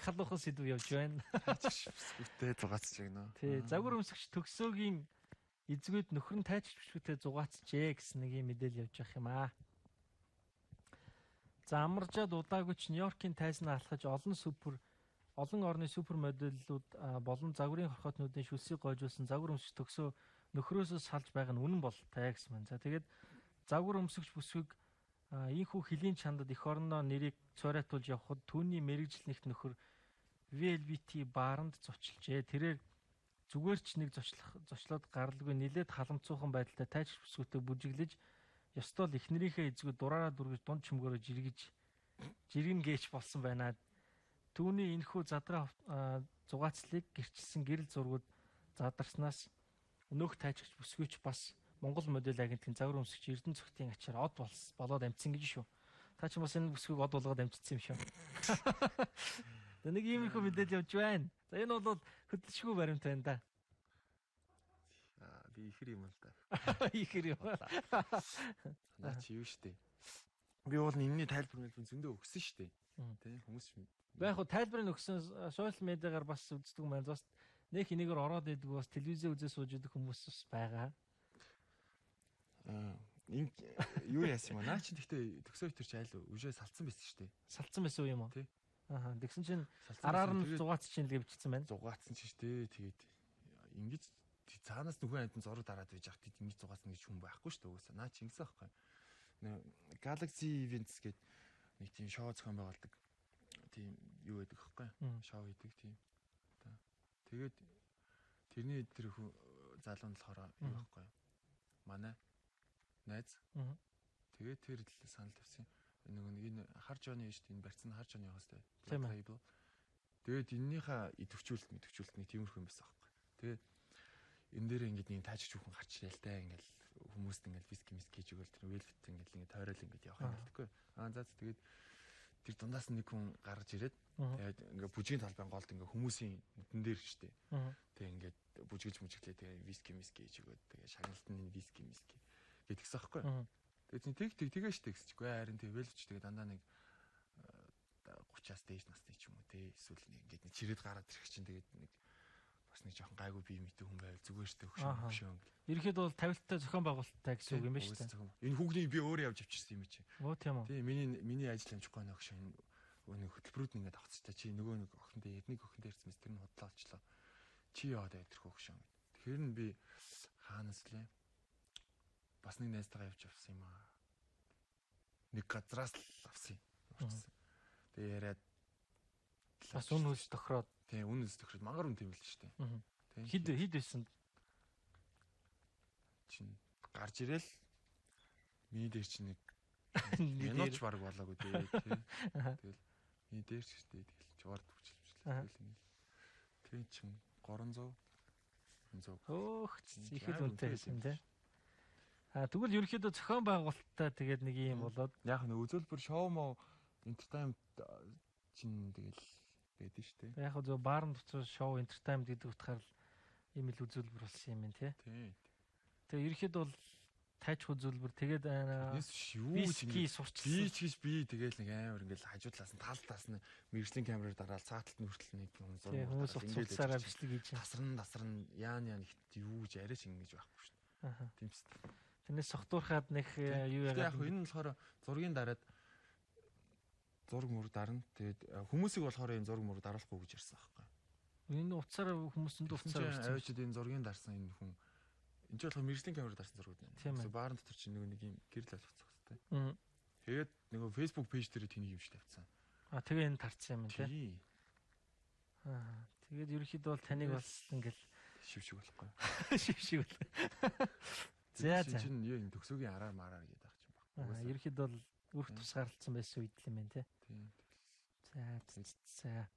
халуухан сэдв явж байна. Бүсгүйтэй зугаацж байна. Тий, загвар өмсгч төгсөөгийн эзгүүд нөхөр нь тайчж бүсгүйтэй зугаацжээ гэсэн нэг юм мэдээлэл явж байх юм аа. За амаржаад удаагүйч Нью-Йоркийн тайзнаа алхаж олон орны супер модельлууд болон загварын хорхоотнуудын шүлсийг гойжуулсан загвар өмсгч төгсөө нөхрөөсөө салж байгаа нь үнэн бололтой гэсэн байна. За тэгээд загвар өмсгч бүсгүйг ийхүү хөлийн чандад эх орондоо нэрийг цорайтуулж явхад түүний мэрэгжил нэгт нөхөр VLBT бааранд зочлжээ. Тэрээр зүгээр ч нэг зочлоод гаралгүй нилээд халамцуухан байдалтай тайч бүсгүйтэй бүжиглэж ёстол эхнэрийнхээ эзгүй дураараа дүргэж дунд чимгөөрөө жиргэн гээч болсон байна. Түүний энэхүү задгаа зугаацлыг гэрчилсэн гэрэл зургууд задарснаас өнөөх тайчгч бүсгүйч бас Монгол модель агентлагийн загвар өмсгч Эрдэнэ цогтын ачаар од болоод амжсан гэж шүү. Та ч бас энэ бүсгүйг од болгоод амжицсан юм шүү. Нэг иймэрхүү мэдээлэл явж байна. За энэ бол хөдөлшгүй баримт байна да. Би ихэр юм л да. Ихэр юм. Наа чи юу штэ. Би бол энэний тайлбар зөндөө өгсөн штэ. Тэ хүмүүс яг хуу тайлбарыг өгсөн сошиал медиагаар бас үздэг юм байна. Бас нэг энэгээр ороод идэг бас телевизээ үзээ сууж идэх хүмүүс бас байгаа. Энэ юу яасан юм аа? Наа чи гэхдээ төгсөө өтер чи айл үжээ салцсан байсан штэ. Салцсан байсан юм уу? Тий. Ааха. Тэгсэн чинь араар нь зугаацч чинь л гэвчихсэн байна. Зугаацсан чи штэ. Тэгээд ингэж цаанаас нөхөн амтан зураг дараад байж хат ингэж зугаацна гэж хүн байхгүй штэ угаасаа. Наа чи ингэсэн байхгүй. Galaxy Events гэдэг нэг тийм шоу зохион байгуулдаг. Тийм юу гэдэг хэвгүй. Шоу хийдэг тийм. Тэгээд тэрний тэр залуу нь болохоор юу байхгүй. Манай найз. Тэгээд тэр л санал тавьсан. Энэ хар жооны шүү дээ. Энэ барьцсан хар жооны хостой. Тэгээд эннийхээ идэвхжүүлэлт нэг тиймэрхүү юм байсан аахгүй. Тэгээд энэ дээр ингээд нэг таажч хүүхэн гарч ирэл та ингээд хүмүүст ингээд виски гэж өгөөл тэр велвет ингээд тойрол ингээд явах юм гэлтэхгүй. За тэгээд тэр дундаас нэг хүн гарч ирээд тэгээд ингээд бүжгийн талбайн голд ингээд хүмүүсийн нүдэн дээр штэ. Тэгээд ингээд бүжгэлээ тэгээд виски гэж өгөөд тэгээд шагналтын виски гэдгийгсэн аахгүй. Тэгээд тэгээ штэ гэсчихгүй харин тэгээд велвч тэгээд дандаа нэг 30-аас дээш насны ч юм уу те эсвэл ингээд нэг чирээд гараад ирэх чинь тэгээд нэг бас нэг жоохон гайгүй бие мэтэй хүн байвал зүгээр штэ хөшөө. Ерхэд бол тавилттай зохион байгуулалттай гэсэн үг юм байна штэ. Энэ хүүхнийг би өөрөө явж авчирсан юм чи. Оо тийм үү. Тийм миний ажил амжихгүй нэг хөшөө нэг хөтөлбөрүүд ингээд авцтай чи нөгөө нэг охин дээр нэг охин дээр ирсэн мэт тэр нь худлаа олчлоо. Чи яваад байдаг хөшөө. Тэгэхээр нь би хаанаас лээ бас нэг найзтайгаа явж авсан юм аа. Нэг газраас л авсан юм. Тэгээ яриад бас үн хөлс тохироод тийм үн хөлс тохироод мангар үн тийм л шүү дээ. Хид байсан чин гарч ирэл миний дээр чи нэг минутч баг болоогүй дээ. Тэгэл миний дээр ч шүү дээ. Тэгэл чуваар төвчлээ. Тэгээ чин 300 Өөх их л үнэтэй байсан тийм. Тэгвэл ерөнхийдөө зохион байгуулалттай тэгээд нэг юм болоод яг нэг үзүүлбэр шоу мó entertainment чин тэгэл байдаг шүү дээ. Яг зөв баарн дотор шоу entertainment гэдэг утгаар ийм л үзүүлбэр болсон юм байна тий. Тэгээ ерөнхийдөө бол тайч үзүүлбэр тэгээд виски сурчлаа. Би тэгэл нэг амар ингээл хажуудлаас нь талдаас нь мэрэгжлийн камераар дараал цааталт нь хүртэл нэг юм зураг ингээд бичлэг хийж тасран яан юу гэж арайч ингэж байхгүй шүү дээ. Тимс. Тэрнээс сохтуурхаад нэг юу яагаад яг энэ нь болохоор зургийн дараад зураг мөр дарна. Тэгээд хүмүүсийг болохоор энэ зураг мөр даруулахгүй гэж ярьсан байхгүй. Энэ уцаар хүмүүсэнд уцаар авчид энэ зургийн дарсан энэ хүн энэ ч болохоор мэрэгжлийн камераар дарсан зургууд байна. Баарн дотор чинь нэг юм гэрэл авчихсан хэвчээ. Тэгээд нөгөө Facebook пэйж дээр тэнийг юм шиг тавьсан. Тэгээ энэ тарцсан юм тий. Тэгээд ерөнхийдөө бол таныг бас ингээл шившиг болохгүй. Шившиг бол. За чинь энэ төгсөөгийн араар мараар гэдэг ах юм байна. Ерөнхийдөө бол үрх тусгаарлцсан байсан үед л юм байна тий. Тийм. За.